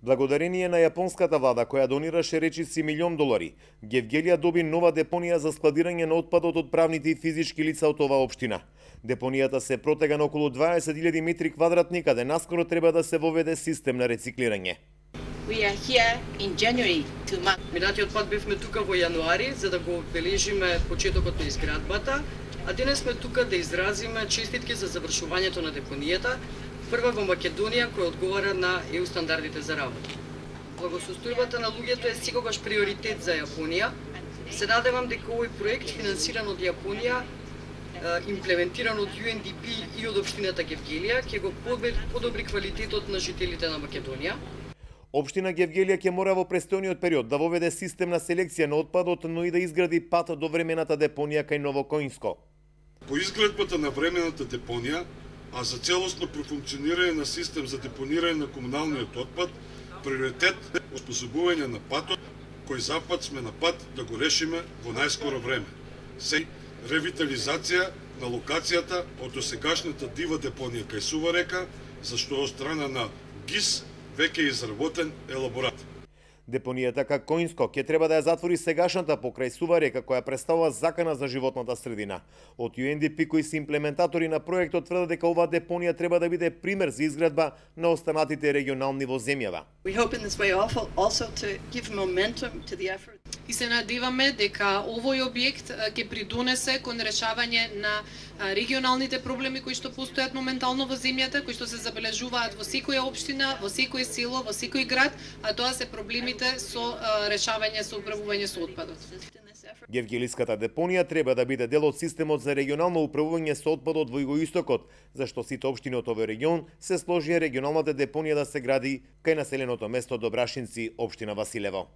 Благодарение на јапонската влада која донираше речиси $1.000.000, Гевгелија доби нова депонија за складирање на отпадот од правните и физички лица од оваа општина. Депонијата се протега на околу 20.000 метри квадратни, каде наскоро треба да се воведе систем на рециклирање. Минатиот пат бевме тука во јануари за да го бележиме почетокот на изградбата, а денес сме тука да изразиме честитки за завршувањето на депонијата, прва во Македонија која одговара на ЕУ стандардите за работа. Благосостојбата на луѓето е секогаш приоритет за Јапонија. Се надевам дека овој проект финансиран од Јапонија, имплементиран од UNDP и од општината Гевгелија, ќе го подобри квалитетот на жителите на Македонија. Општина Гевгелија ќе мора во престојниот период да воведе систем на селекција на отпадот, но и да изгради пат до времената депонија кај Новокоинско. По изградбата на времената депонија, а за целосно профункционирање на систем за депонирање на комуналниот отпад, приоритет е оспособување на патот, кој запад сме на пат да го решиме во најскоро време. Се ревитализација на локацијата од досегашната дива депонија кај Сува река, зашто од страна на ГИС веќе е изработен елаборат. Депонијата Коинско ќе треба да ја затвори сегашната покрај Сува река која представува закана за животната средина. Од UNDP кои се имплементатори на проектот тврдат дека оваа депонија треба да биде пример за изградба на останатите регионални во земјава. И се надеваме дека овој објект ќе придонесе кон решавање на регионалните проблеми кои што постојат моментално во земјата, кои што се забележуваат во секоја општина, во секој село, во секој град, а тоа се проблемите со решавање со управување со отпадот. Гевгелиската депонија треба да биде дел од системот за регионално управување со отпадот во Југоистокот, зашто сите општини од овој регион се сложија регионалната депонија да се гради кај населеното место Добрашинци, општина Василево.